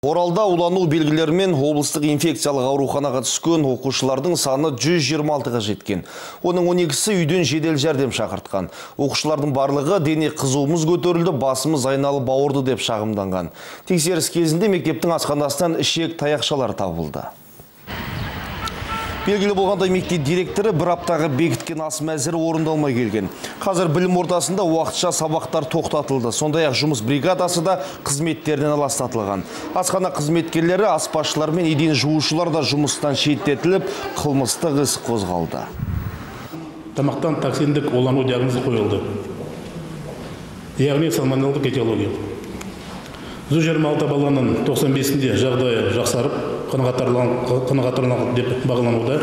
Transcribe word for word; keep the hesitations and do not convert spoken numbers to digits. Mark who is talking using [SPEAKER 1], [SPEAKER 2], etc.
[SPEAKER 1] Оралда улануу белгилери менен облустук инфекциялык ооруканага түшкөн окуучулардын саны жүз жыйырма алтыга жеткен. Онун он экиси үйдөн жедел жардам чакырткан. Окуучулардын барлыгы дене кызуумуз көтөрүлдү, басымыз айналып ауырды деп шагымданган. Текшерис кезинде мектептин асханасынан ишек таякчалар табылды. Белгилүү болгандай, мектеп директору bir аптага бекиткен ас мәзірі орындалмай келген. Қазір білім ортасында уақытша сабақтар тоқтатылды. Сондай-ақ жұмыс бригадасы да қызметтерінен аластатылған. Асхана қызметкерлері, аспазшылар мен еден жуушылар да жұмыстан шеттетіліп, қылмыстық іс қозғалды.
[SPEAKER 2] Тамақтан токсиндік улану диагнозы қойылды. Яғни сальмонеллдық этиология. жүз жыйырма алты баланың тоқсан бесінде жағдайы жақсарып, қанағаттанған деп бағалануда.